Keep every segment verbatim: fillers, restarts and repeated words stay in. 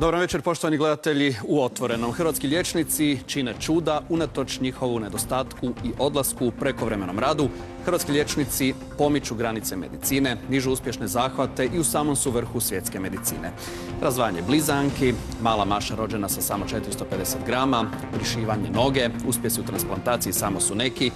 Dobar večer, poštovani gledatelji u Otvorenom. Hrvatski liječnici čine čuda unatoč njihovu nedostatku i odlasku u prekovremenom radu. Hrvatski liječnici pomiču granice medicine, nižu uspješne zahvate i u samom su vrhu svjetske medicine. Razdvajanje blizanki, mala Maša rođena sa samo četiristo pedeset grama, prišivanje noge, uspjesi u transplantaciji samo su neki.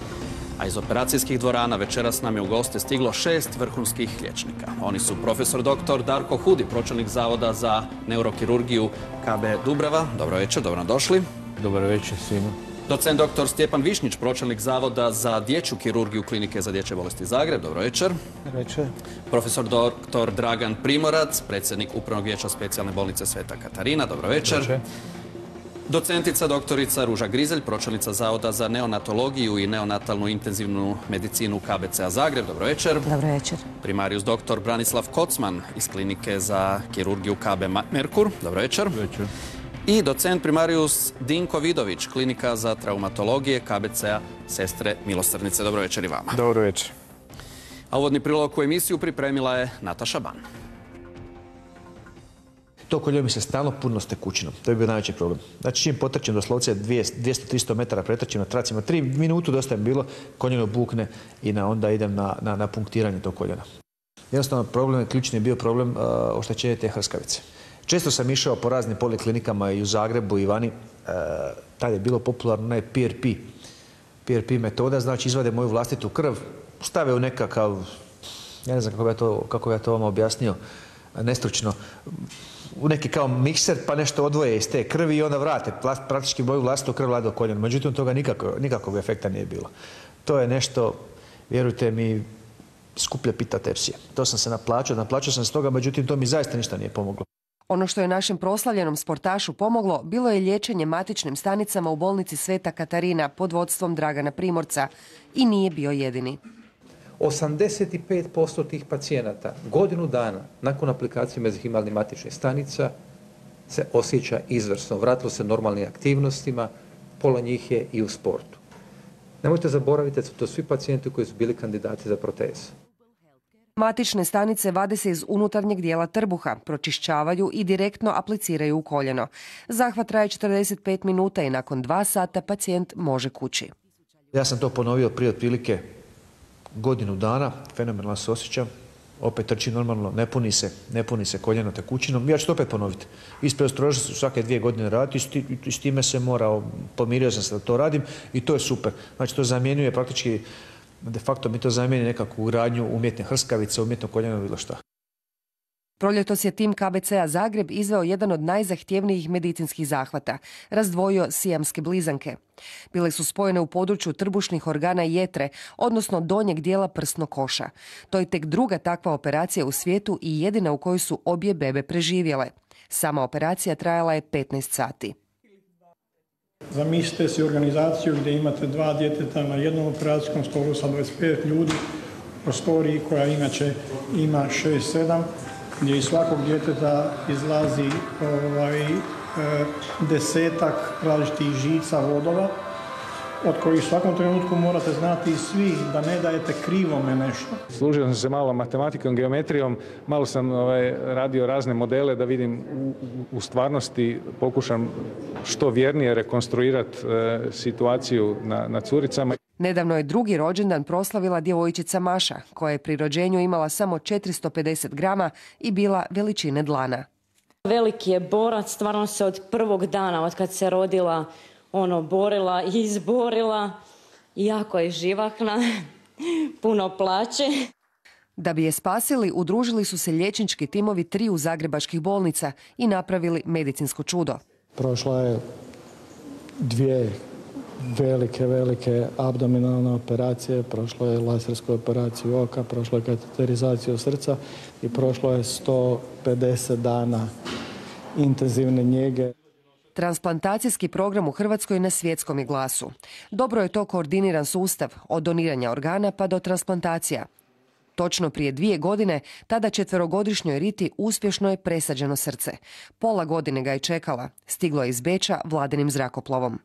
A iz operacijskih dvorana večeras nam je u goste stiglo šest vrhunskih liječnika. Oni su profesor doktor Darko Hudi, pročelnik Zavoda za neurokirurgiju K B Dubrava. Dobro večer, dobro nam došli. Dobar večer svima. Docent doktor Stjepan Višnjić, pročelnik Zavoda za dječju kirurgiju Klinike za dječje bolesti Zagreb. Dobro večer. Dobro večer. Profesor doktor Dragan Primorac, predsjednik Upravnog vijeća Specijalne bolnice Sveta Katarina. Dobro večer. Dobro večer. Docentica doktorica Ruža Grizelj, pročelnica Zavoda za neonatologiju i neonatalnu intenzivnu medicinu K B C-a Zagreb. Dobro večer. Dobro večer. Primarijus doktor Branislav Kocman iz Klinike za kirurgiju K B Merkur. Dobro večer. Dobro večer. I docent primarijus Dinko Vidović, Klinika za traumatologije K B C-a Sestre Milosrdnice. Dobro večer i vama. Dobro večer. A uvodni prilog u emisiju pripremila je Nataša Ban. To koljeno mi se stalno puno s tekućinom. To je bio najveći problem. Znači, čim potrčim doslovce dvjesto do tristo metara pretrčim na tracima, tri minutu dosta je bilo, koljeno bukne i na, onda idem na, na, na punktiranje tog koljena. Jednostavno, problem, ključni je bio problem uh, oštećenja te hrskavice. Često sam išao po raznim poliklinikama i u Zagrebu i vani. Uh, tad je bilo popularno onaj P R P. P R P metoda, znači izvade moju vlastitu krv, stave u nekakav, ja ne znam kako bi ja to, kako bi ja to vam objasnio, nestručno, u neki kao mikser pa nešto odvoje iz te krvi i onda vrate praktički moju vlastitu krv do koljena. Međutim, toga nikako, nikakvog efekta nije bilo. To je nešto, vjerujte mi, skuplje pita tepsije. To sam se naplaćao, naplaćao sam se toga, međutim, to mi zaista ništa nije pomoglo. Ono što je našem proslavljenom sportašu pomoglo bilo je liječenje matičnim stanicama u bolnici Sveta Katarina pod vodstvom Dragana Primorca i nije bio jedini. osamdeset pet posto tih pacijenata godinu dana nakon aplikacije mezihimalnih matičnih stanica se osjeća izvrsno. Vratilo se normalnim aktivnostima, pola njih je i u sportu. Nemojte zaboraviti da su to svi pacijenti koji su bili kandidati za proteze. Matične stanice vade se iz unutarnjeg dijela trbuha, pročišćavaju i direktno apliciraju u koljeno. Zahvat traje četrdeset pet minuta i nakon dva sata pacijent može kući. Ja sam to ponovio prije otprilike godinu dana, fenomenalno se osjećam, opet trči normalno, ne puni se, ne puni se koljeno tekućinom. Ja ću to opet ponoviti. Ispred strože se svake dvije godine raditi i s time se morao, pomirio sam se da to radim i to je super. Znači to zamjenjuje praktički, de facto mi to zamijeni nekakvu ugradnju umjetne hrskavice, umjetno koljeno, bilo šta. Proljetos je tim K B C-a Zagreb izveo jedan od najzahtjevnijih medicinskih zahvata. Razdvojio sijamske blizanke. Bile su spojene u području trbušnih organa jetre, odnosno donjeg dijela prsnog koša. To je tek druga takva operacija u svijetu i jedina u kojoj su obje bebe preživjele. Sama operacija trajala je petnaest sati. Zamislite si organizaciju gdje imate dva djeteta na jednom operacijskom stolu sa dvadeset pet ljudi, u prostoriji koja inače ima šest sedam, gdje iz svakog djeteta izlazi ovaj, e, desetak različitih žica vodova, od kojih u svakom trenutku morate znati i svi da ne dajete krivome nešto. Služio sam se malo matematikom, geometrijom, malo sam ovaj, radio razne modele da vidim u, u stvarnosti, pokušam što vjernije rekonstruirati e, situaciju na, na curicama. Nedavno je drugi rođendan proslavila djevojčica Maša, koja je pri rođenju imala samo četiristo pedeset grama i bila veličine dlana. Veliki je borac, stvarno se od prvog dana, od kad se rodila, ono, borila i izborila. Jako je živahna, puno plače. Da bi je spasili, udružili su se liječnički timovi triju zagrebačkih bolnica i napravili medicinsko čudo. Prošla je dvije velike, velike abdominalne operacije, prošlo je lasersku operaciju oka, prošlo je kateterizaciju srca i prošlo je sto pedeset dana intenzivne njege. Transplantacijski program u Hrvatskoj na svjetskom je glasu. Dobro je to koordiniran sustav, od doniranja organa pa do transplantacija. Točno prije dvije godine, tada četverogodišnjoj Riti uspješno je presađeno srce. Pola godine ga je čekala. Stiglo je iz Beča vladinim zrakoplovom.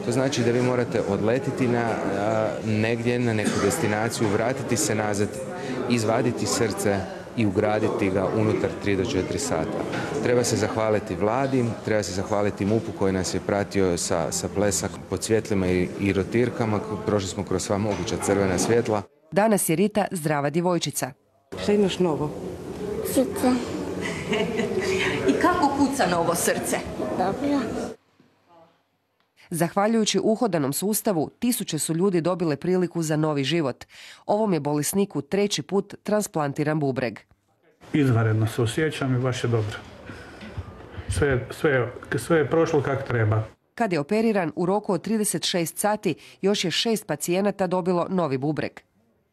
To znači da vi morate odletiti na, a, negdje na neku destinaciju, vratiti se nazad, izvaditi srce, i ugraditi ga unutar tri do četiri sata. Treba se zahvaliti vladi, treba se zahvaliti mupu koji nas je pratio sa, sa plesak pod svjetlima i, i rotirkama. Prošli smo kroz sva moguća crvena svjetla. Danas je Rita zdrava djevojčica. Šta imaš novo? Srce. I kako kuca novo srce? Dobro. Zahvaljujući uhodanom sustavu, tisuće su ljudi dobile priliku za novi život. Ovom je bolesniku treći put transplantiran bubreg. Izvanredno se osjećam i baš je dobro. Sve, sve, sve je prošlo kako treba. Kad je operiran, u roku od trideset šest sati još je šest pacijenata dobilo novi bubreg.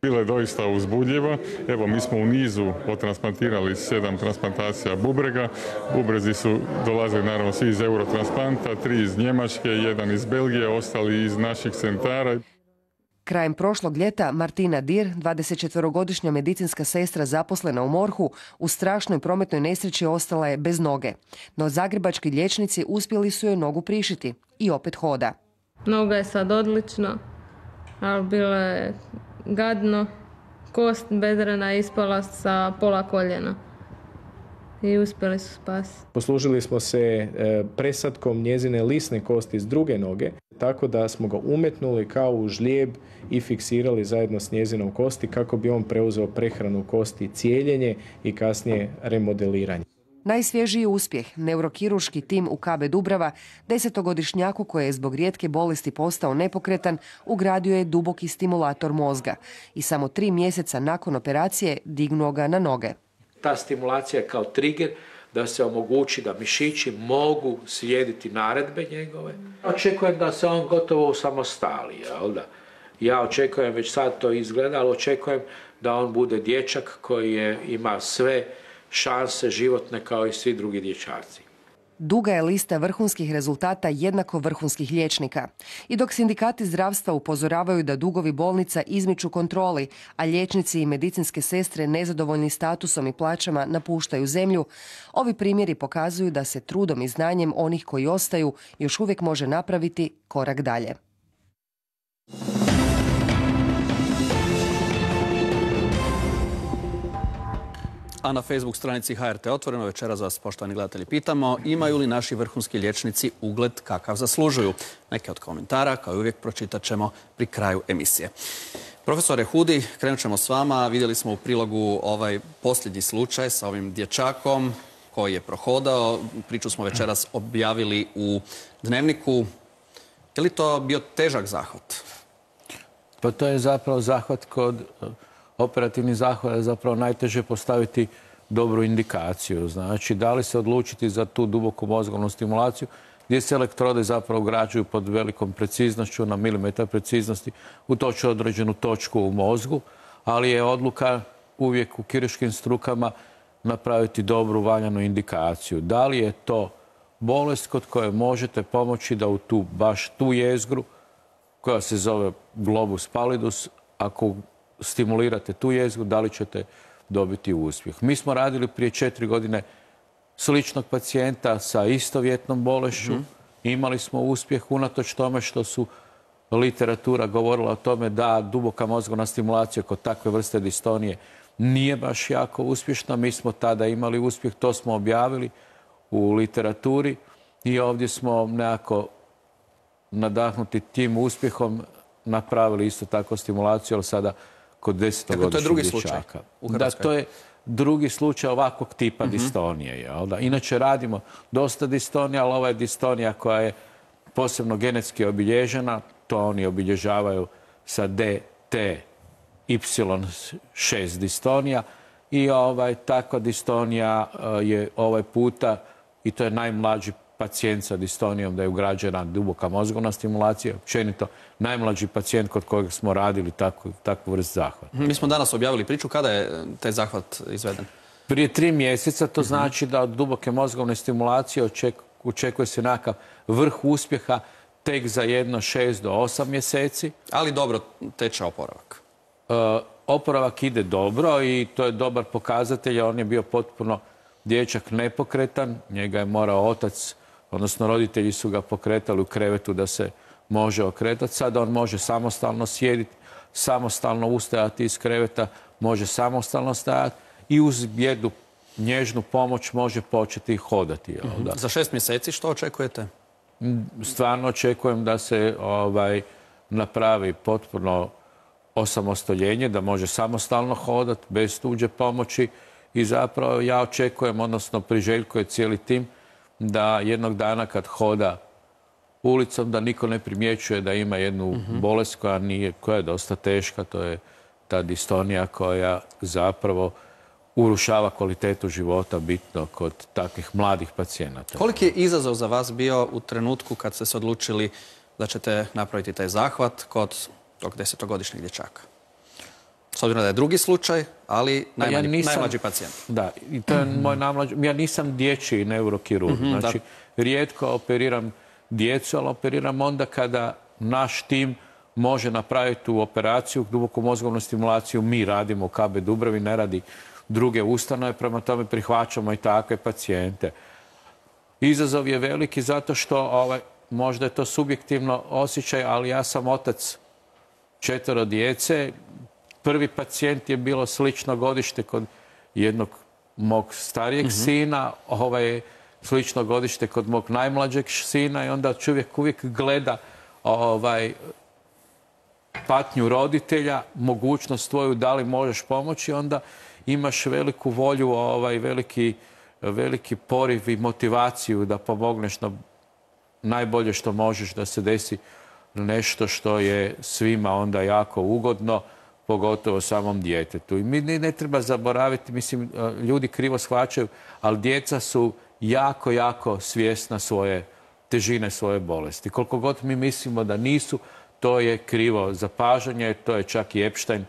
Bilo je doista uzbudljivo. Evo, mi smo u nizu otransplantirali sedam transplantacija bubrega. Bubrezi su dolazili naravno svi iz Eurotransplanta, tri iz Njemačke, jedan iz Belgije, ostali iz naših centara. Krajem prošlog ljeta Martina Dir, dvadesetčetverogodišnja medicinska sestra zaposlena u morhu, u strašnoj prometnoj nesreći ostala je bez noge. No zagrebački liječnici uspjeli su joj nogu prišiti i opet hoda. Noga je sad odlična, ali bilo je gadno. Kost bedrena je ispala sa pola koljena i uspjeli su spasiti. Poslužili smo se presadkom njezine lisne kosti s druge noge, tako da smo ga umetnuli kao u žlijeb i fiksirali zajedno s njezinom kosti kako bi on preuzeo prehranu kosti, cijeljenje i kasnije remodeliranje. Najsvježiji uspjeh, neurokirurški tim u K B Dubrava, desetogodišnjaku koji je zbog rijetke bolesti postao nepokretan, ugradio je duboki stimulator mozga i samo tri mjeseca nakon operacije dignuo ga na noge. Ta stimulacija je kao trigger da se omogući da mišići mogu slijediti naredbe njegove. Očekujem da se on gotovo usamostali, jel da? Ja očekujem, već sad to izgleda, ali očekujem da on bude dječak koji je, ima sve šanse životne kao i svi drugi dječaci. Duga je lista vrhunskih rezultata jednako vrhunskih liječnika. I dok sindikati zdravstva upozoravaju da dugovi bolnica izmiču kontroli, a liječnici i medicinske sestre nezadovoljni statusom i plaćama napuštaju zemlju, ovi primjeri pokazuju da se trudom i znanjem onih koji ostaju još uvijek može napraviti korak dalje. A na Facebook stranici H R T Otvoreno večeras vas, poštovani gledatelji, pitamo imaju li naši vrhunski liječnici ugled kakav zaslužuju. Neke od komentara, kao i uvijek, pročitat ćemo pri kraju emisije. Profesore Hudi, krenut ćemo s vama. Vidjeli smo u prilogu ovaj posljednji slučaj sa ovim dječakom koji je prohodao. Priču smo večeras objavili u Dnevniku. Je li to bio težak zahvat? Pa to je zapravo zahvat kod... Operativni zahvat je zapravo najteže postaviti dobru indikaciju. Znači, da li se odlučiti za tu duboku mozgovnu stimulaciju gdje se elektrode zapravo ugrađuju pod velikom preciznošću, na milimetar preciznosti, u točno određenu točku u mozgu, ali je odluka uvijek u kirurškim strukama napraviti dobru valjanu indikaciju. Da li je to bolest kod koje možete pomoći da u tu, baš tu jezgru, koja se zove globus pallidus, ako stimulirate tu jezgru, da li ćete dobiti uspjeh. Mi smo radili prije četiri godine sličnog pacijenta sa istovjetnom bolešću. Mm-hmm. Imali smo uspjeh unatoč tome što su literatura govorila o tome da duboka mozgovna stimulacija kod takve vrste distonije nije baš jako uspješna. Mi smo tada imali uspjeh, to smo objavili u literaturi i ovdje smo nekako nadahnuti tim uspjehom napravili isto tako stimulaciju, ali sada kod desetogodišnjih dječaka. Da, to je drugi slučaj ovakvog tipa mm-hmm. distonije. Jel da? Inače radimo dosta distonija, ali ova je distonija koja je posebno genetski obilježena. To oni obilježavaju sa D T Y šest distonija. I ovaj, takva distonija je ovaj puta, i to je najmlađi pacijent sa distonijom, da je ugrađena duboka mozgovna stimulacija. Općenito, najmlađi pacijent kod kojeg smo radili takvu, takvu vrst zahvata. Mi smo danas objavili priču. Kada je taj zahvat izveden? Prije tri mjeseca. To znači da od duboke mozgovne stimulacije oček, očekuje se nekakav vrh uspjeha tek za jedno šest do osam mjeseci. Ali dobro teče oporavak. E, oporavak ide dobro i to je dobar pokazatelj. On je bio potpuno dječak nepokretan. Njega je morao otac, odnosno roditelji su ga pokretali u krevetu da se može okretati. Sada on može samostalno sjediti, samostalno ustajati iz kreveta, može samostalno stajati i uz jednu nježnu pomoć može početi hodati. Mm-hmm. Da? Za šest mjeseci što očekujete? Stvarno očekujem da se ovaj, napravi potpuno osamostoljenje, da može samostalno hodati bez tuđe pomoći i zapravo ja očekujem, odnosno priželjkuje cijeli tim, da jednog dana kad hoda ulicom da niko ne primjećuje da ima jednu mm-hmm. bolest koja, nije, koja je dosta teška, to je ta distonija koja zapravo urušava kvalitetu života bitno kod takvih mladih pacijenata. Koliki je izazov za vas bio u trenutku kad ste se odlučili da ćete napraviti taj zahvat kod tog desetogodišnjeg dječaka? S obzirom da je drugi slučaj, ali najmlađi, ja nisam, najmlađi pacijent. Da, i to je mm-hmm. moj najmlađi. Ja nisam dječji neurokirurg. Mm-hmm, znači, da. rijetko operiram djecu, ali operiram onda kada naš tim može napraviti tu operaciju, duboku mozgovnu stimulaciju. Mi radimo u K B Dubravi, ne radi druge ustanove, prema tome prihvaćamo i takve pacijente. Izazov je veliki zato što ovaj, možda je to subjektivno osjećaj, ali ja sam otac četvero djece. Prvi pacijent je bilo slično godište kod jednog mog starijeg mm-hmm. sina, ovaj slično godište kod mog najmlađeg sina i onda čovjek uvijek gleda ovaj, patnju roditelja, mogućnost tvoju da li možeš pomoći, onda imaš veliku volju, ovaj, veliki, veliki poriv i motivaciju da pomogneš na najbolje što možeš da se desi nešto što je svima onda jako ugodno, pogotovo samom djetetu. I mi ne, ne treba zaboraviti, mislim, ljudi krivo shvaćaju, ali djeca su jako, jako svjesna svoje težine svoje bolesti. Koliko god mi mislimo da nisu, to je krivo zapažanje, to je čak i Epstein,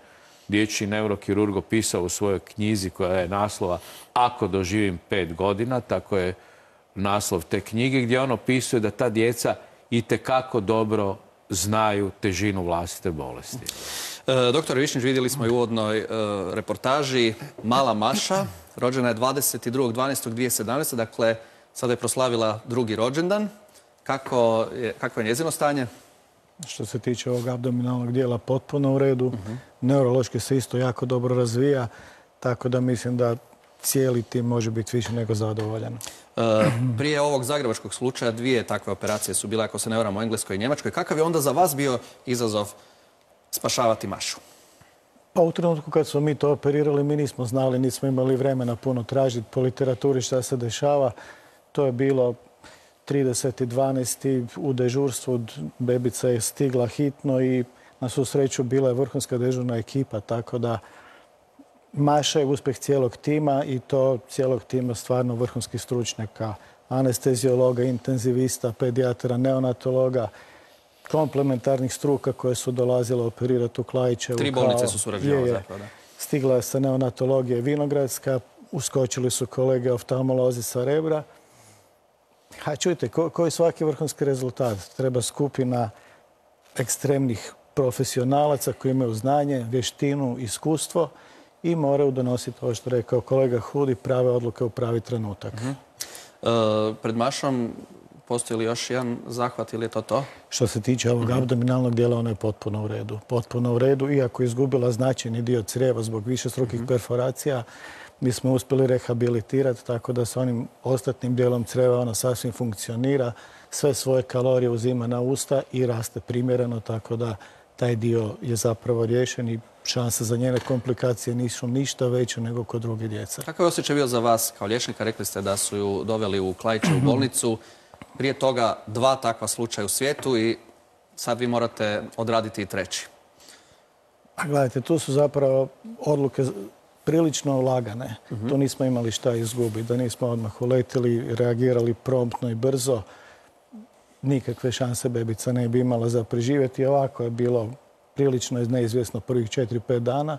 dječji neurokirurg, opisao u svojoj knjizi koja je naslova Ako doživim pet godina, tako je naslov te knjige, gdje on opisuje da ta djeca itekako dobro znaju težinu vlastite bolesti. E, doktor Višnjić, vidjeli smo i u uvodnoj e, reportaži, mala Maša, rođena je dvadeset drugog dvanaestog dvije tisuće sedamnaeste. Dakle, sada je proslavila drugi rođendan. Kako je, kako je njezino stanje? Što se tiče ovog abdominalnog dijela, potpuno u redu. Uh-huh. Neurološki se isto jako dobro razvija, tako da mislim da cijeli tim može biti više nego zadovoljan. E, prije ovog zagrebačkog slučaja dvije takve operacije su bile, ako se ne varam, u Engleskoj i Njemačkoj. Kakav je onda za vas bio izazov spašavati Mašu? Pa u trenutku kad smo mi to operirali, mi nismo znali, nismo imali vremena puno tražiti po literaturi šta se dešava. To je bilo trideset dvanaesti u dežurstvu, bebica je stigla hitno i na svu sreću bila je vrhunska dežurna ekipa, tako da Maša je uspjeh cijelog tima i to cijelog tima stvarno vrhunskih stručnjaka, anesteziologa, intenzivista, pedijatra, neonatologa, komplementarnih struka koje su dolazile operirati u Klaićevu. Tri bolnice su surađivale zapravo, da. Stigla je sa neonatologije Vinogradska, uskočili su kolege oftalmolozi sa Rebra. A čujte, ko, koji svaki vrhunski rezultat? Treba skupina ekstremnih profesionalaca koji imaju znanje, vještinu, iskustvo i moraju donositi, ovo što rekao kolega Hudi, prave odluke u pravi trenutak. Uh-huh. e, pred Mašom postoji li još jedan zahvat ili je to to? Što se tiče ovog uh-huh. abdominalnog dijela, ono je potpuno u redu. Potpuno u redu, iako je izgubila značajni dio crijeva zbog višestrukih uh-huh. perforacija, mi smo uspjeli rehabilitirati tako da s onim ostatnim dijelom crijeva ona sasvim funkcionira, sve svoje kalorije uzima na usta i raste primjereno, tako da taj dio je zapravo riješen i šanse za njene komplikacije nisu ništa veće nego kod druge djece. Kako je osjećaj bio za vas kao liječnika? Rekli ste da su ju doveli u Klaićevu bolnicu. Prije toga dva takva slučaja u svijetu i sad vi morate odraditi i treći. A gledajte, tu su zapravo odluke prilično lagane. Uh-huh. Tu nismo imali šta izgubiti. Da nismo odmah uletili, reagirali promptno i brzo, nikakve šanse bebica ne bi imala za preživjeti. Ovako je bilo prilično neizvjesno prvih četiri pet dana,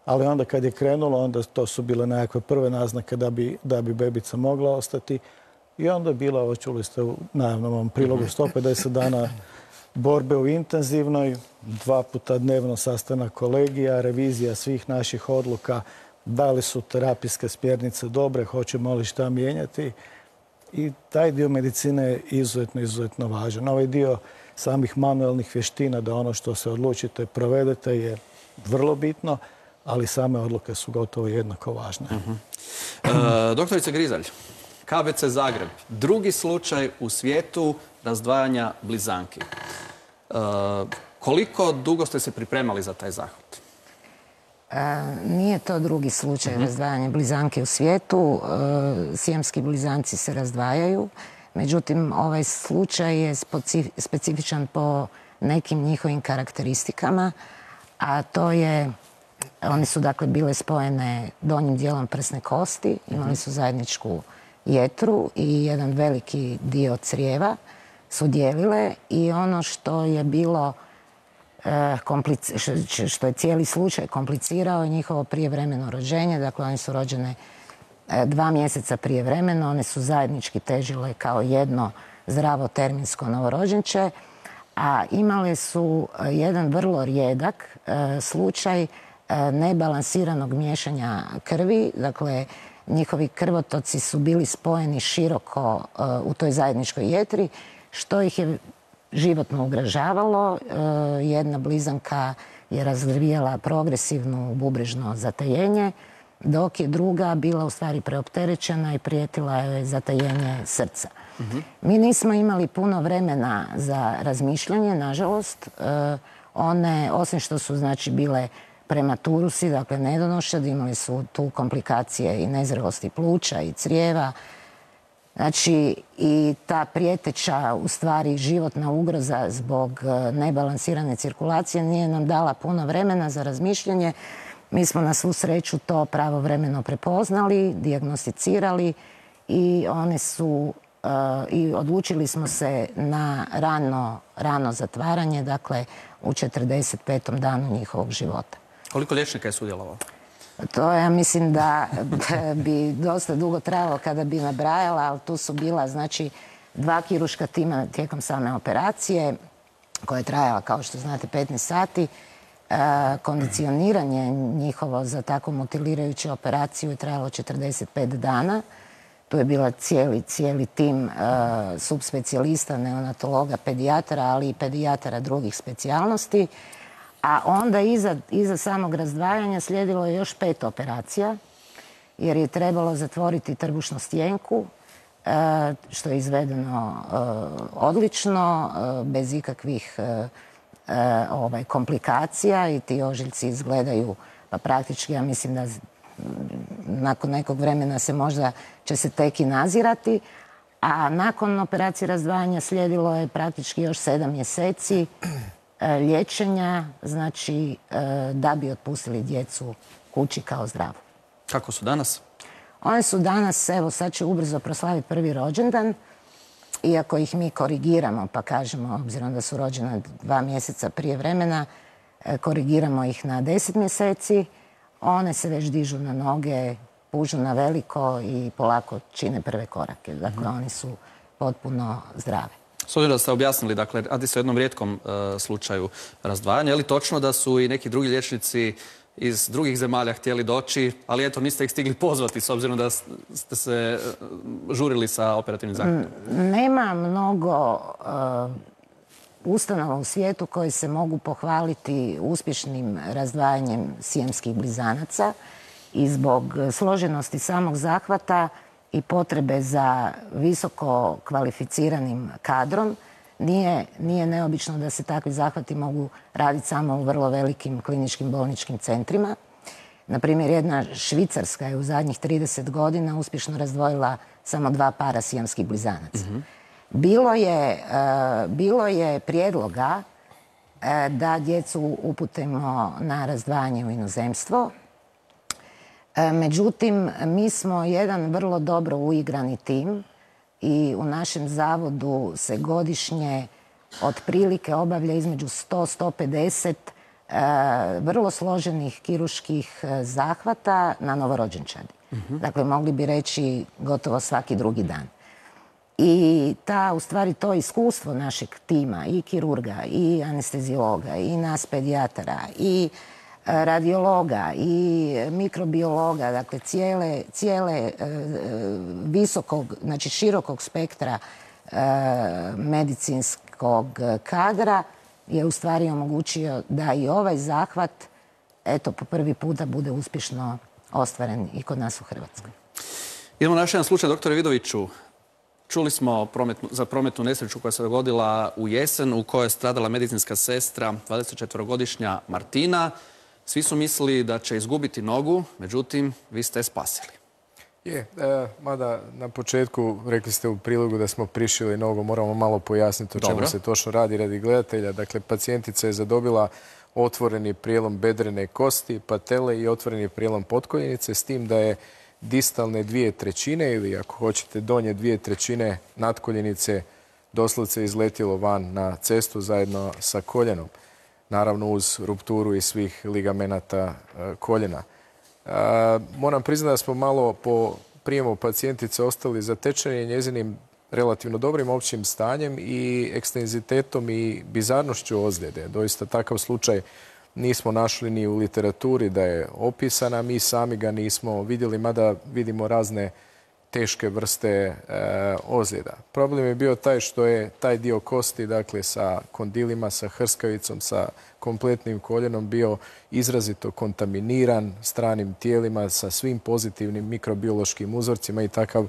ali onda kad je krenulo, onda to su bile nekakve prve naznake da bi, da bi bebica mogla ostati. I onda je bila, ovo čuli ste u najavnom prilogu, sto pedeset dana borbe u intenzivnoj, dva puta dnevno sastanak kolegija, revizija svih naših odluka, da li su terapijske smjernice dobre, hoćemo li šta mijenjati. I taj dio medicine je izuzetno, izuzetno važan. Ovaj dio samih manualnih vještina, da ono što se odlučite provedete, je vrlo bitno, ali same odluke su gotovo jednako važne. E, doktorica Grizalj, K B C Zagreb, drugi slučaj u svijetu razdvajanja blizanki. E, koliko dugo ste se pripremali za taj zahvat? E, nije to drugi slučaj uh-huh. razdvajanja blizanke u svijetu. E, sijamski blizanci se razdvajaju. Međutim, ovaj slučaj je specifičan po nekim njihovim karakteristikama, a to je, one su dakle bile spojene donjim dijelom prsne kosti, imali su zajedničku jetru i jedan veliki dio crijeva su dijelile i ono što je bilo što je cijeli slučaj komplicirao je njihovo prijevremeno rođenje. Dakle, one su rođene dva mjeseca prijevremeno, one su zajednički težile kao jedno zdravo terminsko novorođenče, a imale su jedan vrlo rijedak slučaj nebalansiranog miješanja krvi. Dakle, njihovi krvotoci su bili spojeni široko u toj zajedničkoj jetri, što ih je životno ugrožavalo. Jedna blizanka je razvijala progresivno bubrežno zatajenje, dok je druga bila u stvari preopterećena i prijetila je zatajenje srca. Uh-huh. Mi nismo imali puno vremena za razmišljanje, nažalost. One, osim što su znači bile prematurusi, dakle nedonošad, imali su tu komplikacije i nezrelosti pluća i crijeva. Znači, i ta prijeteća, u stvari, životna ugroza zbog nebalansirane cirkulacije nije nam dala puno vremena za razmišljanje. Mi smo na svu sreću to pravovremeno prepoznali, dijagnosticirali i one su, uh, i odlučili smo se na rano, rano zatvaranje, dakle, u četrdeset petom danu njihovog života. Koliko liječnika je sudjelovalo? To ja mislim da bi dosta dugo trajalo kada bi nabrajala, ali tu su bila znači dva kirurška tima tijekom same operacije koja je trajala, kao što znate, petnaest sati. E, kondicioniranje njihovo za takvu mutilirajuću operaciju je trajalo četrdeset pet dana. Tu je bila cijeli, cijeli tim e, subspecijalista, neonatologa, pedijatara, ali i pedijatara drugih specijalnosti. A onda iza, iza samog razdvajanja slijedilo je još pet operacija, jer je trebalo zatvoriti trbušnu stjenku, što je izvedeno odlično, bez ikakvih ovaj, komplikacija i ti ožiljci izgledaju, pa praktički ja mislim da nakon nekog vremena se možda će se tek i nazirati, a nakon operacije razdvajanja slijedilo je praktički još sedam mjeseci liječenja, znači da bi otpustili djecu kući kao zdravu. Kako su danas? One su danas, evo sad će ubrzo proslaviti prvi rođendan, iako ih mi korigiramo, pa kažemo, obzirom da su rođena dva mjeseca prije vremena, korigiramo ih na deset mjeseci, one se već dižu na noge, pužu na veliko i polako čine prve korake. Dakle, mm-hmm. oni su potpuno zdrave. S obzirom da ste objasnili, dakle, radi se o jednom rijetkom e, slučaju razdvajanja. Je li točno da su i neki drugi liječnici iz drugih zemalja htjeli doći, ali eto, niste ih stigli pozvati s obzirom da ste se žurili sa operativnim zahvatom? Nema mnogo uh, ustanova u svijetu koji se mogu pohvaliti uspješnim razdvajanjem sijamskih blizanaca i zbog složenosti samog zahvata i potrebe za visoko kvalificiranim kadrom, Nije, nije neobično da se takvi zahvati mogu raditi samo u vrlo velikim kliničkim bolničkim centrima. Naprimjer, jedna Švicarska je u zadnjih trideset godina uspješno razdvojila samo dva para sijamskih blizanaca. Mm-hmm. Bilo je, uh, bilo je prijedloga uh, da djecu uputimo na razdvajanje u inozemstvo. Uh, međutim, mi smo jedan vrlo dobro uigrani tim i u našem zavodu se godišnje otprilike obavlja između sto do sto pedeset e, vrlo složenih kirurških zahvata na novorođenčadi. Mm-hmm. Dakle, mogli bi reći gotovo svaki drugi dan. I ta, u stvari, to iskustvo našeg tima, i kirurga, i anesteziologa, i nas pedijatara, i radiologa i mikrobiologa, dakle cijele, cijele e, visokog, znači širokog spektra e, medicinskog kadra je u stvari omogućio da i ovaj zahvat eto, po prvi puta bude uspješno ostvaren i kod nas u Hrvatskoj. Idemo na još jedan slučaj, doktore Vidoviću. Čuli smo prometnu, za prometnu nesreću koja se dogodila u jesen u kojoj je stradala medicinska sestra, dvadesetčetverogodišnja Martina. Svi su mislili da će izgubiti nogu, međutim, vi ste je spasili. Je, e, mada na početku rekli ste u prilogu da smo prišili nogu, moramo malo pojasniti o čemu Dobro. se točno radi radi gledatelja. Dakle, pacijentica je zadobila otvoreni prijelom bedrene kosti, patele i otvoreni prijelom potkoljenice, s tim da je distalne dvije trećine ili ako hoćete donje dvije trećine natkoljenice doslovce izletjelo van na cestu zajedno sa koljenom. Naravno uz rupturu i svih ligamenata e, koljena. E, moram priznati da smo malo po prijemu pacijentice ostali zatečeni njezinim relativno dobrim općim stanjem i ekstenzitetom i bizarnošću ozljede. Doista takav slučaj nismo našli ni u literaturi da je opisana, mi sami ga nismo vidjeli, mada vidimo razne teške vrste e, ozljeda. Problem je bio taj što je taj dio kosti, dakle sa kondilima, sa hrskavicom, sa kompletnim koljenom bio izrazito kontaminiran stranim tijelima sa svim pozitivnim mikrobiološkim uzorcima i takav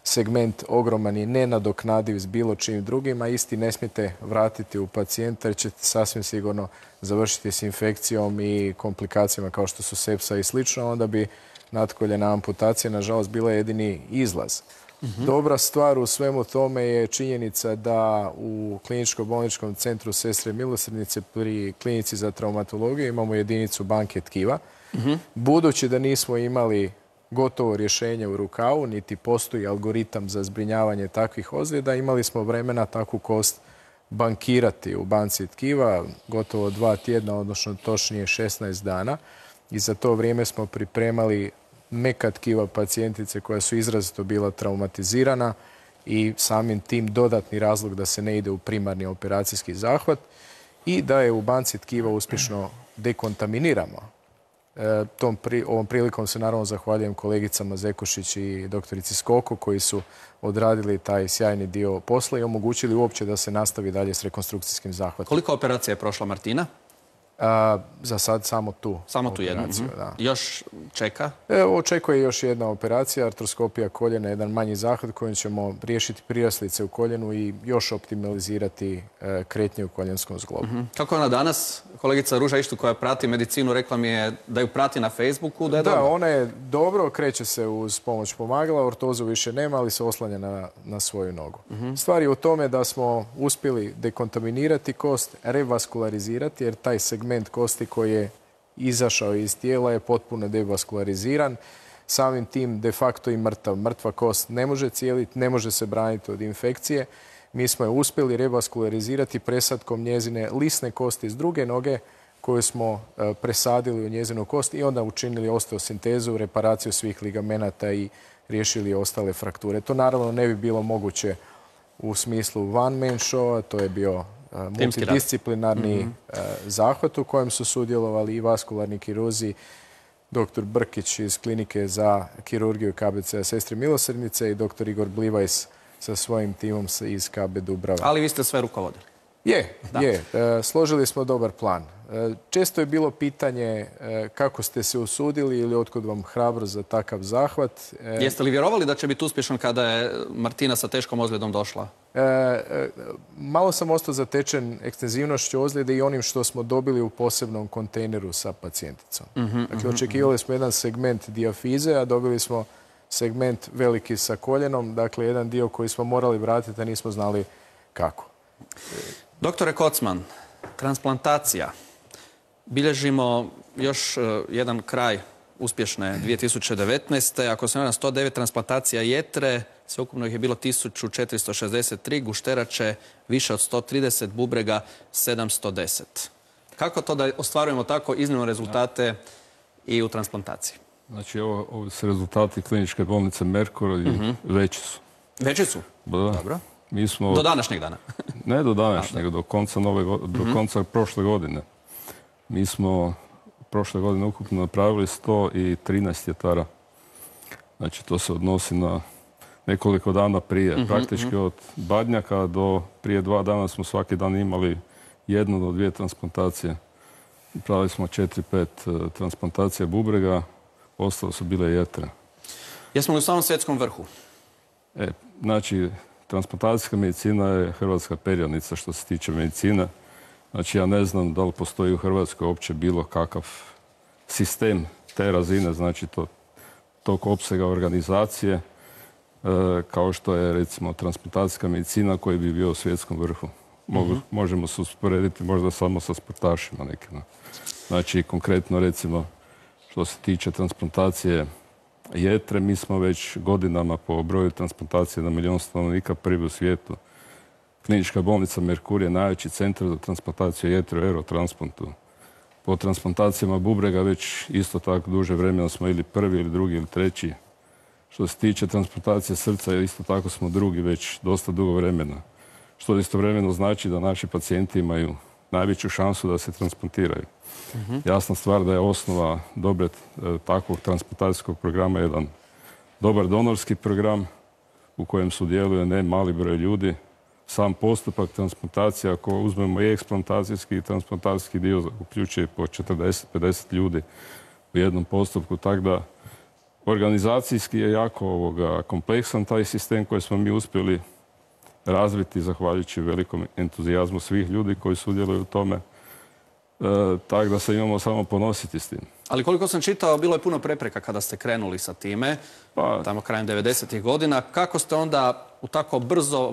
segment ogroman i nenadoknadiv s bilo čim drugim, a isti ne smijete vratiti u pacijenta jer ćete sasvim sigurno završiti s infekcijom i komplikacijama kao što su sepsa i slično, onda bi natkoljena amputacija nažalost bila jedini izlaz. Mm-hmm. Dobra stvar u svemu tome je činjenica da u kliničko-bolničkom centru Sestre milosrdnice pri klinici za traumatologiju imamo jedinicu banke tkiva. Mm-hmm. Budući da nismo imali gotovo rješenje u rukavu, niti postoji algoritam za zbrinjavanje takvih ozljeda, imali smo vremena takvu kost bankirati u banci tkiva gotovo dva tjedna, odnosno točnije šesnaest dana. I za to vrijeme smo pripremali meka tkiva pacijentice koja su izrazito bila traumatizirana i samim tim dodatni razlog da se ne ide u primarni operacijski zahvat i da je u banci tkiva uspješno dekontaminiramo. E, tom pri, ovom prilikom se naravno zahvaljujem kolegicama Zekušić i doktorici Skoko koji su odradili taj sjajni dio posla i omogućili uopće da se nastavi dalje s rekonstrukcijskim zahvatom. Koliko operacija je prošla Martina? A, za sad samo tu. Samo tu jednu. Da. Još čeka? E, očekuje još jedna operacija, artroskopija koljena, jedan manji zahvat kojim ćemo riješiti priraslice u koljenu i još optimalizirati e, kretnje u koljenskom zglobu. Mm-hmm. Kako je ona danas? Kolegica Ruža Ištu koja prati medicinu rekla mi je da ju prati na Facebooku, da je da, dobro. Da, ona je dobro, kreće se uz pomoć pomagala, ortozu više nema, ali se oslanja na, na svoju nogu. Mm-hmm. Stvar je u tome da smo uspjeli dekontaminirati kost, revaskularizirati, jer taj segment kosti koji je izašao iz tijela je potpuno devaskulariziran. Samim tim de facto i mrtav. Mrtva kost ne može cijeliti, ne može se braniti od infekcije. Mi smo je uspjeli revaskularizirati presadkom njezine lisne kosti s druge noge koju smo presadili u njezinu kost i onda učinili osteosintezu, reparaciju svih ligamenata i riješili ostale frakture. To naravno ne bi bilo moguće u smislu one man show, to je bio multidisciplinarni mm-hmm. zahvat u kojem su sudjelovali i vaskularni kirurzi, doktor Brkić iz klinike za kirurgiju K B C-a Sestre milosrdnice i doktor Igor Blivajs sa svojim timom iz K B Dubrava. Ali vi ste sve rukovodili. Je, da. je. Složili smo dobar plan. Često je bilo pitanje kako ste se usudili ili otkud vam hrabrost za takav zahvat. Jeste li vjerovali da će biti uspješan kada je Martina sa teškom ozljedom došla? Malo sam ostao zatečen ekstenzivnošću ozljede i onim što smo dobili u posebnom kontejneru sa pacijenticom. Mm-hmm, dakle, očekivali smo jedan segment dijafize, a dobili smo segment veliki sa koljenom. Dakle, jedan dio koji smo morali vratiti, a nismo znali kako. Doktore Kocman, transplantacija. Bilježimo još jedan kraj uspješne dvije tisuće devetnaeste. Ako se ne na sto devet transplantacija jetre, sveukupno ih je bilo tisuću četiristo šezdeset tri, gušterače više od sto trideset, bubrega sedamsto deset. Kako to da ostvarujemo tako iznimne rezultate i u transplantaciji? Znači, ovo, ovo su rezultati kliničke bolnice Merkur i mm-hmm. veći su. Veći su? Da. Dobro. Mi smo, do današnjeg dana? Ne do današnjeg, do konca, nove, do mm-hmm. konca prošle godine. Mi smo prošle godine ukupno napravili sto trinaest jetara. Znači, to se odnosi na nekoliko dana prije. Mm-hmm. Praktički od Badnjaka do prije dva dana smo svaki dan imali jednu do dvije transplantacije. Pravili smo četiri pet transplantacija bubrega, ostalo su bile jetre. Jesmo li u samom svjetskom vrhu? E, znači, transplantacijska medicina je hrvatska perjanica što se tiče medicine. Znači, ja ne znam da li postoji u Hrvatskoj uopće bilo kakav sistem te razine, znači to, tog opsega organizacije, e, kao što je, recimo, transplantacijska medicina koji bi bio u svjetskom vrhu. Mogu, uh-huh. Možemo se usporediti možda samo sa sportašima nekima. Znači, konkretno, recimo, što se tiče transplantacije jetre, mi smo već godinama po broju transplantacije na milijon stanovnika prvi u svijetu. Klinička bolnica Merkur je najveći centar za transplantaciju jetre u Eurotransplantu. Po transplantacijama bubrega već isto tako duže vremena smo ili prvi, ili drugi, ili treći. Što se tiče transplantacije srca, isto tako smo drugi već dosta dugo vremena. Što istovremeno znači da naši pacijenti imaju najveću šansu da se transplantiraju. Uh-huh. Jasna stvar da je osnova dobre takvog transplantacijskog programa jedan dobar donorski program u kojem sudjeluje ne mali broj ljudi. Sam postupak transplantacije, ako uzmemo i eksplantacijski i transplantacijski dio, uključuje po četrdeset pedeset ljudi u jednom postupku, tako da organizacijski je jako ovoga, kompleksan taj sistem koji smo mi uspjeli razviti zahvaljujući velikom entuzijazmu svih ljudi koji sudjeluju u tome. E, tako da se imamo samo ponositi s tim. Ali koliko sam čitao, bilo je puno prepreka kada ste krenuli sa time, pa, tamo krajem devedesetih godina. Kako ste onda u tako brzo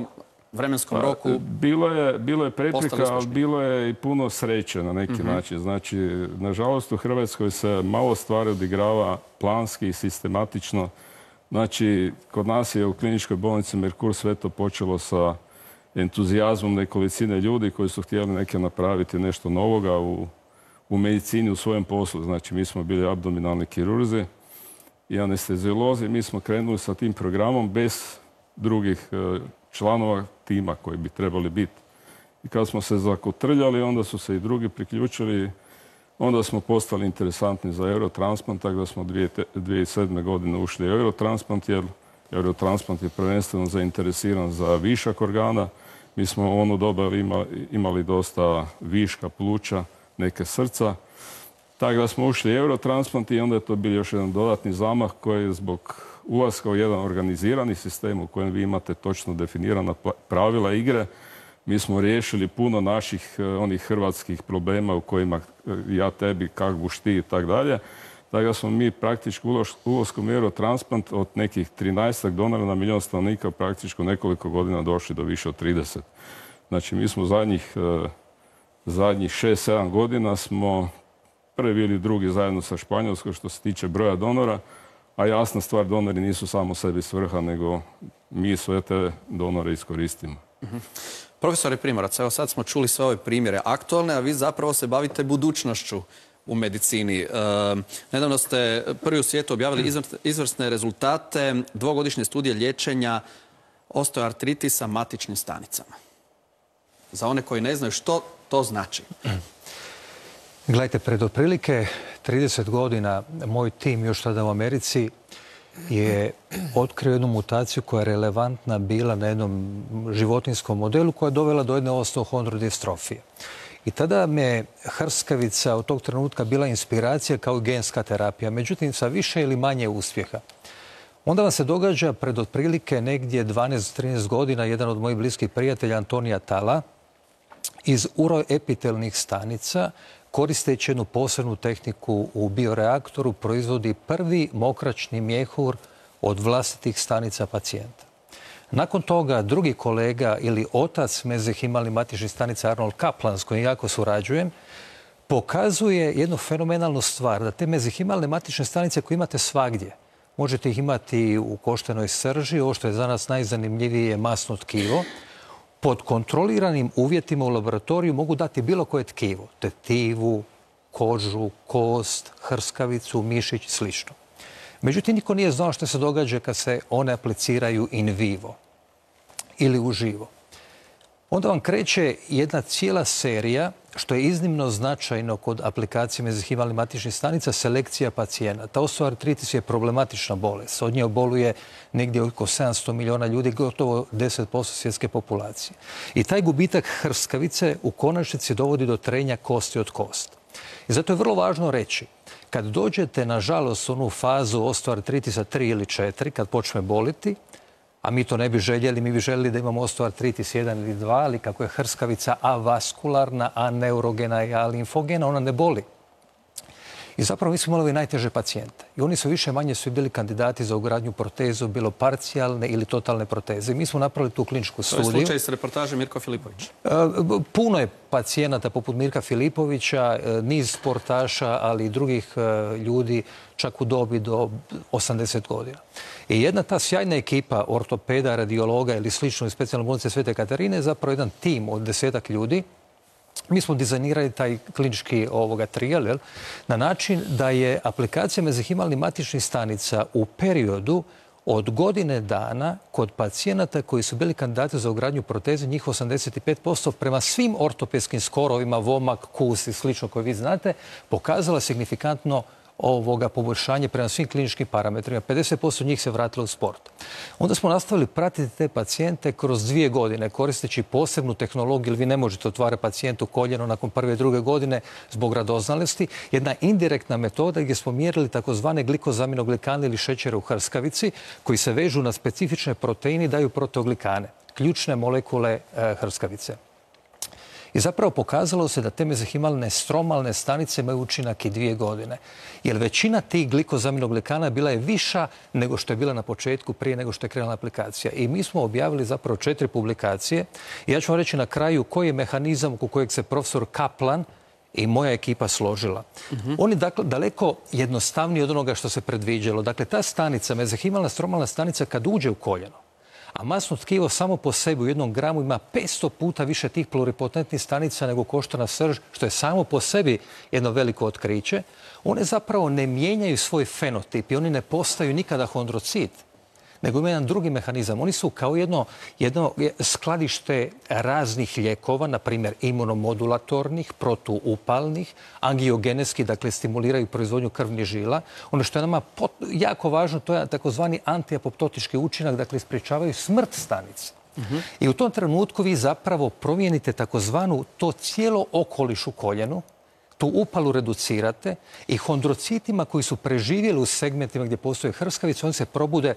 vremenskom pa, roku bilo je, bilo je prepreka, ali bilo je i puno sreće na neki uh-huh. način. Znači, nažalost, u Hrvatskoj se malo stvari odigrava planski i sistematično. Znači, kod nas je u kliničkoj bolnici Merkur sve to počelo sa entuzijazmom nekolicine ljudi koji su htjeli neke napraviti nešto novoga u, u medicini, u svojem poslu. Znači, mi smo bili abdominalni kirurzi i anesteziolozi. Mi smo krenuli sa tim programom bez drugih članova tima koji bi trebali biti. I kad smo se zakotrljali, onda su se i drugi priključili. Onda smo postali interesantni za Eurotransplant, tako da smo dvije tisuće sedme. godine ušli u Eurotransplant, jer Eurotransplant je prvenstveno zainteresiran za višak organa. Mi smo u ono doba imali, imali dosta viška pluća, neke srca. Tako da smo ušli u Eurotransplant i onda je to bio još jedan dodatni zamah koji je zbog ulaska u jedan organizirani sistem u kojem vi imate točno definirana pravila igre. Mi smo riješili puno naših onih hrvatskih problema u kojima ja tebi, kak buš ti i tak dalje. Tako da smo mi praktički ulaskom u Eurotransplant od nekih trinaestak donora na milijon stanovnika praktički nekoliko godina došli do više od trideset. Znači mi smo zadnjih, zadnjih šest sedam godina smo prvi ili drugi zajedno sa Španjolskom što se tiče broja donora, a jasna stvar, donori nisu samo sebi svrha, nego mi sve te donore iskoristimo. Uh-huh. Profesore Primorac, evo sad smo čuli sve ove primjere aktualne, a vi zapravo se bavite budućnošću u medicini. E, nedavno ste prvi u svijetu objavili izvrsne rezultate dvogodišnje studije liječenja osteoartritisa matičnim stanicama. Za one koji ne znaju što to znači. Gledajte, pred otprilike trideset godina moj tim još tada u Americi je otkrio jednu mutaciju koja je relevantna bila na jednom životinjskom modelu koja je dovela do jedne osteohondrodistrofije. I tada me hrskavica od tog trenutka bila inspiracija kao genska terapija, međutim sa više ili manje uspjeha. Onda vam se događa pred otprilike negdje dvanaest trinaest godina jedan od mojih bliskih prijatelja, Antonija Tala, iz uroepitelnih stanica, koristeći jednu posebnu tehniku u bioreaktoru, proizvodi prvi mokraćni mjehur od vlastitih stanica pacijenta. Nakon toga drugi kolega ili otac mezenhimalnih matičnih stanica Arnold Kaplan, s kojim jako surađujem, pokazuje jednu fenomenalnu stvar, da te mezenhimalne matične stanice koje imate svagdje, možete ih imati u koštenoj srži, ovo što je za nas najzanimljivije je masno tkivo, pod kontroliranim uvjetima u laboratoriju mogu dati bilo koje tkivo, tetivu, kožu, kost, hrskavicu, mišić i slično. Međutim, niko nije znao što se događa kad se one apliciraju in vivo ili uživo. Onda vam kreće jedna cijela serija, što je iznimno značajno kod aplikacije mezenhimalnih matičnih stanica, selekcija pacijenata. Osteoartritis je problematična bolest. Od nje boluje negdje oko sedamsto milijuna ljudi, gotovo deset posto svjetske populacije. I taj gubitak hrskavice u konačnici dovodi do trenja kosti od kost. I zato je vrlo važno reći, kad dođete, nažalost, u onu fazu osteoartritisa tri ili četiri, kad počne boliti, a mi to ne bi željeli, mi bi željeli da imamo osteoartritis jedan ili dva, ali kako je hrskavica avaskularna, aneurogena i alimfogena, ona ne boli. I zapravo mi smo imali ove najteže pacijente. I oni su više manje svi bili kandidati za ugradnju protezu, bilo parcijalne ili totalne proteze. I mi smo napravili tu kliničku studiju. To je slučaj s reportaže Mirko Filipović. Puno je pacijenata poput Mirka Filipovića, niz sportaša, ali i drugih ljudi čak u dobi do osamdeset godina. I jedna ta sjajna ekipa ortopeda, radiologa ili slično iz specijalne bolnice Svete Katarine je zapravo jedan tim od desetak ljudi. Mi smo dizajnirali taj klinički ovoga trijal, jel, na način da je aplikacija mezenhimalnih matičnih stanica u periodu od godine dana kod pacijenata koji su bili kandidati za ugradnju proteze, njih osamdeset pet posto prema svim ortopedskim skorovima, vomak, kus i slično koje vi znate, pokazala signifikantno ovoga poboljšanje prema svim kliničkim parametrima. pedeset posto njih se vratilo u sport. Onda smo nastavili pratiti te pacijente kroz dvije godine, koristeći posebnu tehnologiju, jer vi ne možete otvarati pacijentu koljeno nakon prve i druge godine zbog radoznalosti. Jedna indirektna metoda gdje smo mjerili takozvane glikozaminoglikane ili šećere u hrskavici, koji se vežu na specifične proteine i daju proteoglikane, ključne molekule e, hrskavice. I zapravo pokazalo se da te mezenhimalne stromalne stanice imaju učinak i dvije godine. Jer većina tih glikozaminoglikana bila je viša nego što je bila na početku, prije nego što je krenula aplikacija. I mi smo objavili zapravo četiri publikacije. I ja ću vam reći na kraju koji je mehanizam oko kojeg se profesor Kaplan i moja ekipa složila. Mm-hmm. On je dakle daleko jednostavniji od onoga što se predviđalo. Dakle, ta stanica, mezenhimalna stromalna stanica, kad uđe u koljeno, a masno tkivo samo po sebi u jednom gramu ima petsto puta više tih pluripotentnih stanica nego koštana srž, što je samo po sebi jedno veliko otkriće, one zapravo ne mijenjaju svoj fenotip i oni ne postaju nikada hondrocit, nego ima jedan drugi mehanizam. Oni su kao jedno, jedno skladište raznih lijekova, na primjer imunomodulatornih, protuupalnih, angiogenetski, dakle stimuliraju proizvodnju krvnih žila. Ono što je nama pot, jako važno, to je takozvani antiapoptotički učinak, dakle sprječavaju smrt stanice. Uh-huh. I u tom trenutku vi zapravo promijenite takozvanu to cijelo okoliš u koljenu, tu upalu reducirate i hondrocitima koji su preživjeli u segmentima gdje postoje hrskavice, oni se probude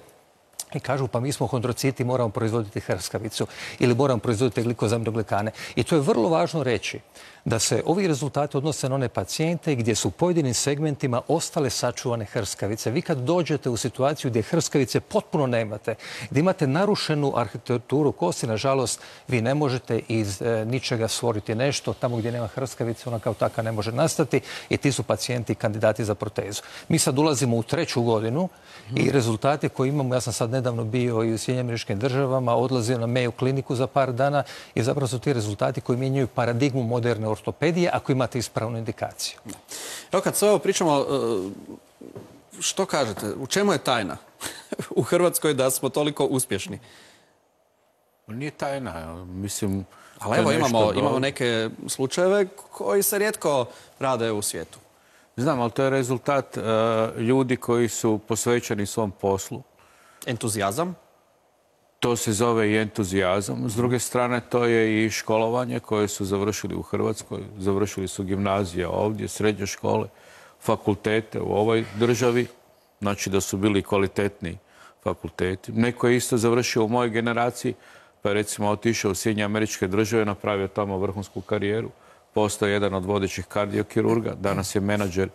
i kažu pa mi smo hondrociti, moramo proizvoditi hrskavicu ili moramo proizvoditi glikozaminoglikane. I to je vrlo važno reći da se ovi rezultati odnose na one pacijente gdje su u pojedinim segmentima ostale sačuvane hrskavice. Vi kad dođete u situaciju gdje hrskavice potpuno nemate, gdje imate narušenu arhitekturu kosti, nažalost, vi ne možete iz e, ničega stvoriti nešto. Tamo gdje nema hrskavice, ona kao taka ne može nastati i ti su pacijenti kandidati za protezu. Mi sad ulazimo u treću godinu i rezultate koje imamo, ja sam sad nedavno bio i u Sjedinjenim Američkim Državama, odlazio na Mayo kliniku za par dana i zapravo su ti rezultati koji mijenjaju paradigmu moderne ortopedije ako imate ispravnu indikaciju. Evo kad sve ovo pričamo, što kažete, u čemu je tajna u Hrvatskoj da smo toliko uspješni? Nije tajna, mislim... Ali evo imamo, imamo neke slučajeve koji se rijetko rade u svijetu. Znam, ali to je rezultat uh, ljudi koji su posvećeni svom poslu. Entuzijazam? To se zove i entuzijazam. S druge strane, to je i školovanje koje su završili u Hrvatskoj. Završili su gimnazije ovdje, srednje škole, fakultete u ovoj državi. Znači da su bili kvalitetni fakulteti. Neko je isto završio u mojoj generaciji, pa je recimo otišao u Sjedinjene Američke Države, napravio tamo vrhunsku karijeru. Postao jedan od vodećih kardiokirurga. Danas je menadžer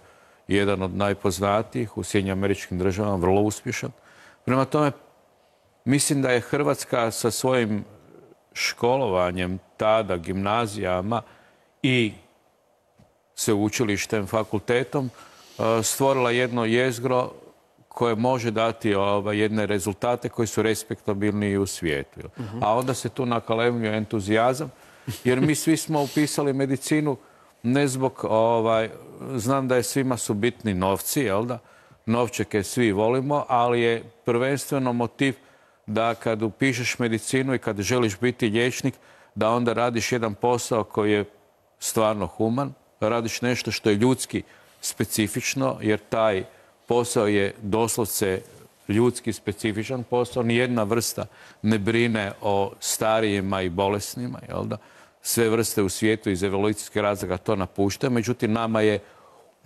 jedan od najpoznatijih u Sjedinjenim Američkim Državama, vrlo uspješan. Prema tome, mislim da je Hrvatska sa svojim školovanjem tada, gimnazijama i sveučilištem, fakultetom, stvorila jedno jezgro koje može dati ova, jedne rezultate koji su respektabilni i u svijetu. Uh-huh. A onda se tu nakalemljuje entuzijazam, jer mi svi smo upisali medicinu ne zbog, ovaj, znam da je svima su bitni novci, jel da? Novčeke svi volimo, ali je prvenstveno motiv da kad upišeš medicinu i kad želiš biti liječnik, da onda radiš jedan posao koji je stvarno human, radiš nešto što je ljudski specifično, jer taj posao je doslovce ljudski specifičan posao. Nijedna vrsta ne brine o starijima i bolesnima, jel da? sve vrste u svijetu iz evolucijskih razloga to napuštaju. Međutim, nama je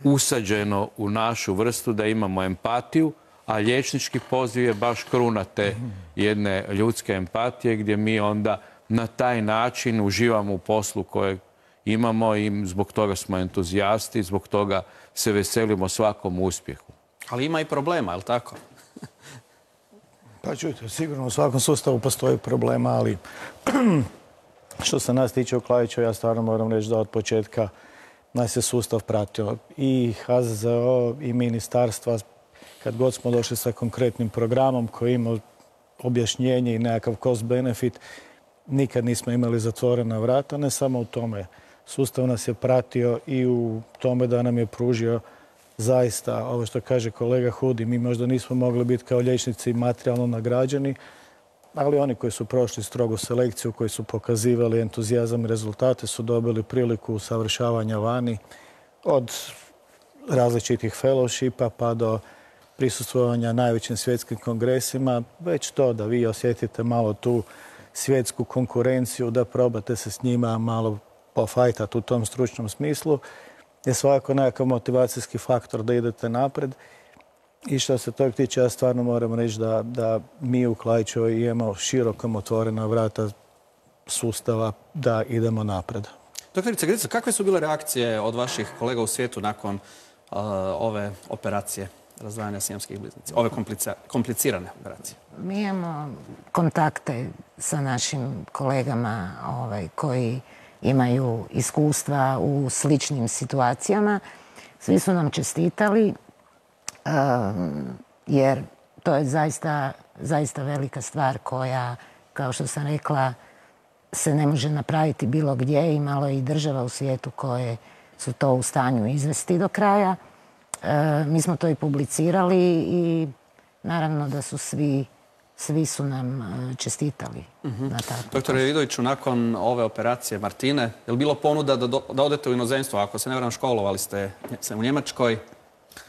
usađeno u našu vrstu da imamo empatiju, a liječnički poziv je baš kruna te jedne ljudske empatije gdje mi onda na taj način uživamo u poslu kojeg imamo i zbog toga smo entuzijasti, zbog toga se veselimo svakom uspjehu. Ali ima i problema, je li tako? Pa čujte, sigurno u svakom sustavu postoji problema, ali što se nas tiče u Klaiću, ja stvarno moram reći da od početka nas je sustav pratio. I H Z Z O i ministarstva, kad god smo došli sa konkretnim programom koji ima objašnjenje i nekakav cost benefit, nikad nismo imali zatvorena vrata, ne samo u tome. Sustav nas je pratio i u tome da nam je pružio zaista, ovo što kaže kolega Hudi, mi možda nismo mogli biti kao liječnici materijalno nagrađeni, ali oni koji su prošli strogu selekciju, koji su pokazivali entuzijazam i rezultate, su dobili priliku usavršavanja vani od različitih fellowshipa pa do prisustvovanja najvećim svjetskim kongresima. Već to da vi osjetite malo tu svjetsku konkurenciju, da probate se s njima malo pofajtati u tom stručnom smislu, je svakako nekakav motivacijski faktor da idete napred. I što se tog tiče, ja stvarno moram reći da, da mi u Klaićevoj imamo širokom otvorena vrata sustava da idemo napred. Doktorice Grica, kakve su bile reakcije od vaših kolega u svijetu nakon uh, ove operacije razdvajanja sijamskih bliznica, ove komplicirane operacije? Mi imamo kontakte sa našim kolegama ovaj, koji imaju iskustva u sličnim situacijama. Svi su nam čestitali um, jer to je zaista, zaista velika stvar koja, kao što sam rekla, se ne može napraviti bilo gdje i malo i država u svijetu koje su to u stanju izvesti do kraja. E, mi smo to i publicirali i naravno da su svi, svi su nam čestitali. Mm-hmm. na tako. Doktore Vidoviću, nakon ove operacije Martine, je li bilo ponuda da, do, da odete u inozemstvo? Ako se ne varam, školovali ste u Njemačkoj,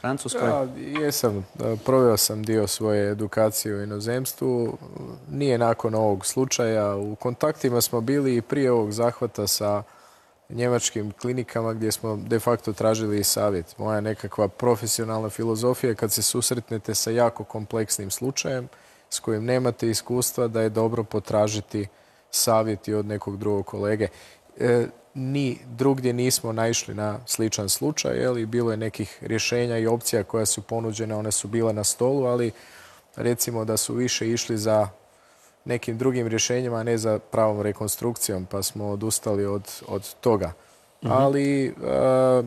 Francuskoj? Ja, jesam. Proveo sam dio svoje edukacije u inozemstvu. Nije nakon ovog slučaja. U kontaktima smo bili i prije ovog zahvata sa njemačkim klinikama gdje smo de facto tražili i savjet. Moja nekakva profesionalna filozofija kad se susretnete sa jako kompleksnim slučajem s kojim nemate iskustva, da je dobro potražiti savjeti od nekog drugog kolege. E, ni drugdje nismo naišli na sličan slučaj, ali bilo je nekih rješenja i opcija koja su ponuđene, one su bile na stolu, ali recimo da su više išli za nekim drugim rješenjima, a ne za pravom rekonstrukcijom, pa smo odustali od, od toga. Mm-hmm. Ali a,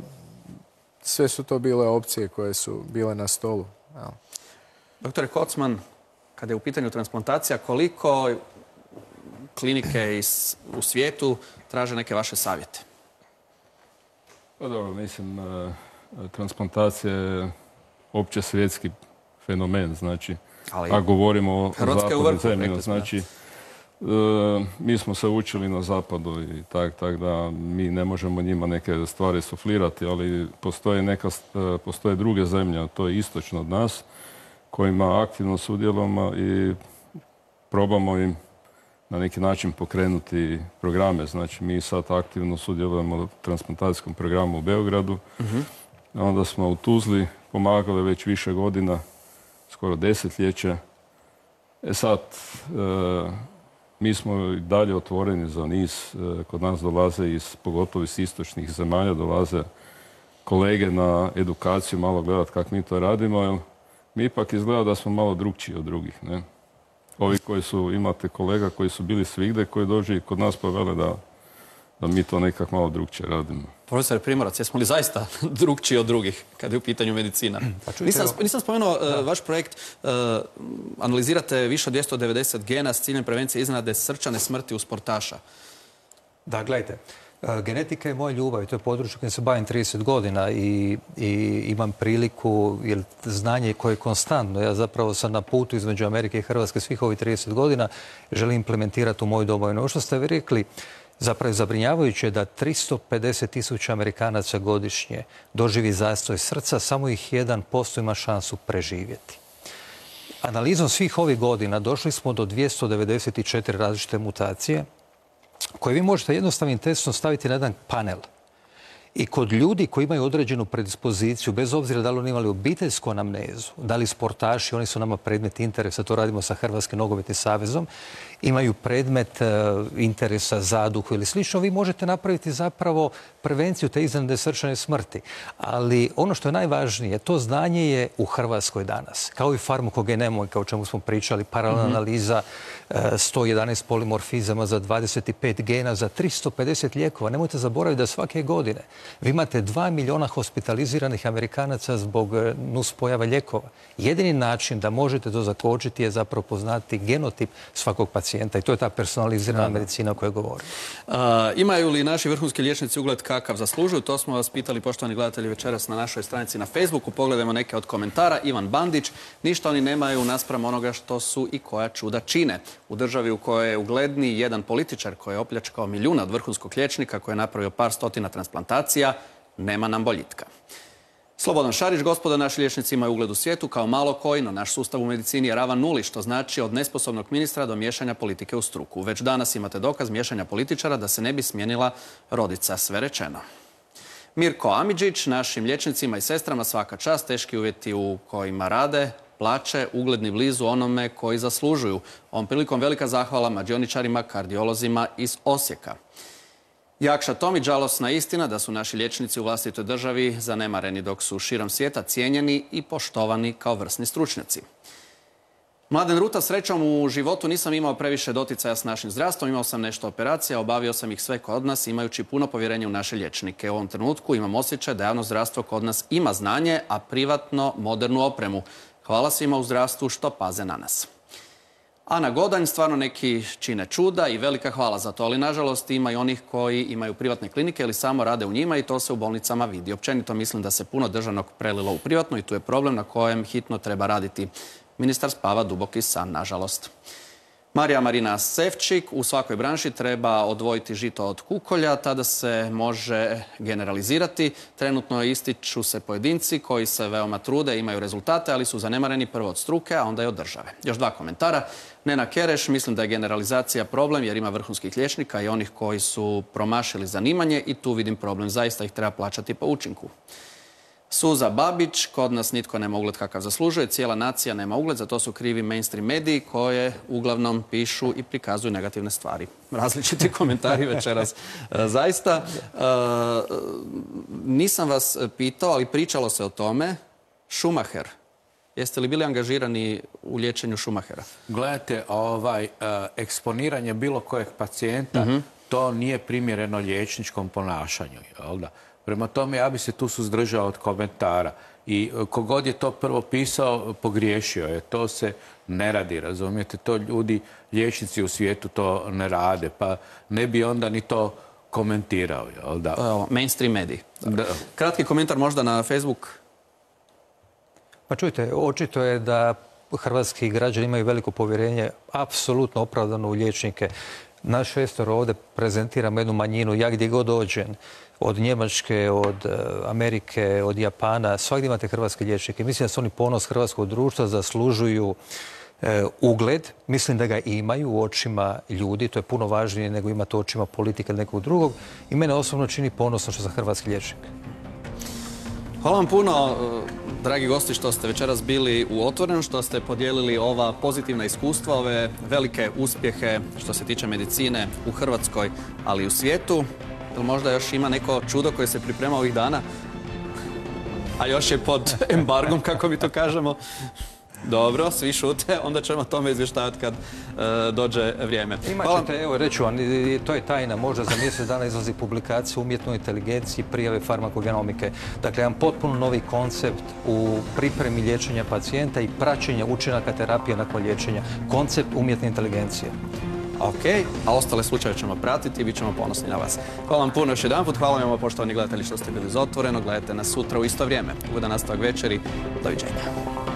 sve su to bile opcije koje su bile na stolu. Ja. Doktore Kocman, kada je u pitanju transplantacija, koliko klinike iz, u svijetu traže neke vaše savjete? Pa dobro, mislim, transplantacija je opće svjetski fenomen, znači, ali a govorimo o zapadnoj zemlji, znači, e, mi smo se učili na zapadu i tak, tak da mi ne možemo njima neke stvari suflirati, ali postoje, neka, postoje druge zemlje, a to je istočno od nas, kojima aktivno sudjelujemo i probamo im na neki način pokrenuti programe. Znači, mi sad aktivno sudjelujemo u transplantacijskom programu u Beogradu. Uh-huh. Onda smo u Tuzli pomagali već više godina, skoro desetljeće. E sad, e, mi smo i dalje otvoreni za niz. E, kod nas dolaze, iz, pogotovo iz istočnih zemalja, dolaze kolege na edukaciju, malo gledati kako mi to radimo, jer mi ipak izgleda da smo malo drugčiji od drugih, ne? Ovi koji su, imate kolega koji su bili svigde, koji dođe i kod nas povele da, da mi to nekako malo drugčije radimo. Profesor Primorac, jesmo li zaista drugčiji od drugih kada je u pitanju medicina? Pa nisam, nisam spomenuo uh, vaš projekt. Uh, analizirate više od dvjesto devedeset gena s ciljem prevencije iznenadne srčane smrti u sportaša. Da, gledajte. Genetika je moja ljubav i to je područje kojim se bavim trideset godina i, i imam priliku, jer znanje koje je konstantno, ja zapravo sam na putu između Amerike i Hrvatske svih ovih trideset godina, želim implementirati u moju domovinu. Ovo što ste vi rekli, zapravo je zabrinjavajuće da tristo pedeset tisuća Amerikanaca godišnje doživi zastoj srca, samo ih jedan posto ima šansu preživjeti. Analizom svih ovih godina došli smo do dvjesto devedeset četiri različite mutacije koje vi možete jednostavnim testom staviti na jedan panel. I kod ljudi koji imaju određenu predispoziciju, bez obzira da li oni imali obiteljsku anamnezu, da li sportaši, oni su nama predmet interesa, to radimo sa Hrvatskim nogometnim savezom, imaju predmet interesa, zaduhu ili slično, vi možete napraviti zapravo prevenciju te iznenadne srčane smrti. Ali ono što je najvažnije, to znanje je u Hrvatskoj danas. Kao i farmakogenomika, o čemu smo pričali, paralelna analiza, sto jedanaest polimorfizama za dvadeset pet gena, za tristo pedeset lijekova. Nemojte zaboraviti da svake godine vi imate dva miliona hospitaliziranih Amerikanaca zbog nuspojava lijekova. Jedini način da možete to zakočiti je zapravo poznati genotip svakog pacijenta i to je ta personalizirana medicina o kojoj govorim. Imaju li naši vrhunski liječnici ugled kakav zaslužuju? To smo vas pitali, poštovani gledatelji, večeras na našoj stranici na Facebooku. Pogledajmo neke od komentara. Ivan Bandić, ništa oni nemaju naspram onoga što su i koja čuda čine. U državi u kojoj je ugledniji jedan političar koji je opljačkao milijuna od vrhunskog liječnika, koji je napravio par stotina transplantacija, nema nam boljitka. Slobodan Šarić, gospoda, naši liječnici imaju ugled u svijetu kao malo koji, no naš sustav u medicini je ravan nuli, što znači od nesposobnog ministra do miješanja politike u struku. Već danas imate dokaz miješanja političara da se ne bi smijenila rodica, sve rečeno. Mirko Amidžić, našim liječnicima i sestrama svaka čast, teški uvjeti u kojima rade, plaće, ugledni blizu onome koji zaslužuju. Ovom prilikom velika zahvala mađioničarima, kardiolozima iz Osijeka. Jakša Tomić, žalosna istina da su naši liječnici u vlastitoj državi zanemareni dok su širom svijeta cijenjeni i poštovani kao vrsni stručnjaci. Mladen Ruta, srećom u životu nisam imao previše doticaja s našim zdravstvom, imao sam nešto operacija, obavio sam ih sve kod nas imajući puno povjerenja u naše liječnike. U ovom trenutku imam osjećaj da javno zdravstvo kod nas ima znanje, a privatno modernu opremu. Hvala svima u zdravstvu što paze na nas. Ana Godanj, stvarno neki čine čuda i velika hvala za to, ali nažalost ima i onih koji imaju privatne klinike ili samo rade u njima i to se u bolnicama vidi. Općenito mislim da se puno državnog prelilo u privatno i tu je problem na kojem hitno treba raditi. Ministar spava duboki san, nažalost. Marija Marina Sevčik, u svakoj branši treba odvojiti žito od kukolja, tada se može generalizirati. Trenutno ističu se pojedinci koji se veoma trude, imaju rezultate, ali su zanemareni prvo od struke, a onda i od države. Još dva komentara. Nena Kereš, mislim da je generalizacija problem jer ima vrhunskih liječnika i onih koji su promašili zanimanje i tu vidim problem. Zaista ih treba plaćati po učinku. Suza Babić, kod nas nitko nema ugled kakav zaslužuje, cijela nacija nema ugled, za to su krivi mainstream mediji koje uglavnom pišu i prikazuju negativne stvari. Različiti komentari večeras. Zaista, nisam vas pitao, ali pričalo se o tome. Schumacher. Jeste li bili angažirani u liječenju Schumachera? Gledajte, ovaj, eksponiranje bilo kojeg pacijenta, mm-hmm. to nije primjereno liječničkom ponašanju, jel da? Prema tome, ja bi se tu suzdržao od komentara. I kogod je to prvo pisao, pogriješio je. To se ne radi, razumijete? To ljudi, liječnici u svijetu to ne rade, pa ne bi onda ni to komentirao, jel da? Evo, mainstream mediji. Kratki komentar možda na Facebook. Pa čujte, očito je da hrvatski građani imaju veliko povjerenje, apsolutno opravdano u liječnike. Naš šestor ovdje prezentiramo jednu manjinu, ja gdje god dođem, od Njemačke, od Amerike, od Japana, svakdje imate hrvatske liječnike. Mislim da su oni ponos hrvatskog društva, zaslužuju e, ugled. Mislim da ga imaju u očima ljudi, to je puno važnije nego imati u očima politika ili nekog drugog. I mene osobno čini ponosno što sam hrvatski liječnik. Hvala vam puno, dragi gosti, što ste večeras bili u Otvorenom, što ste podijelili ova pozitivna iskustva, ove velike uspjehe što se tiče medicine u Hrvatskoj, ali i u svijetu. Ili možda još ima neko čudo koje se priprema ovih dana, a još je pod embargom, kako mi to kažemo. Dobro, svi šute, onda ćemo o tome izvještavati kad e, dođe vrijeme. Imaćete, evo reću vam, to je tajna, možda za mjesec dana izlazi publikacija o umjetnoj inteligenciji, prijave farmakogenomike. Dakle, jedan potpuno novi koncept u pripremi liječenja pacijenta i praćenja učinaka terapije nakon liječenja. Koncept umjetne inteligencije. Ok, a ostale slučaje ćemo pratiti i bit ćemo ponosni na vas. Hvala vam puno još jedan put, hvala vam poštovani gledatelji što ste bili za Otvoreno. Gledajte nas sutra u isto vrijeme. Ugodan nastavak večeri, doviđenja.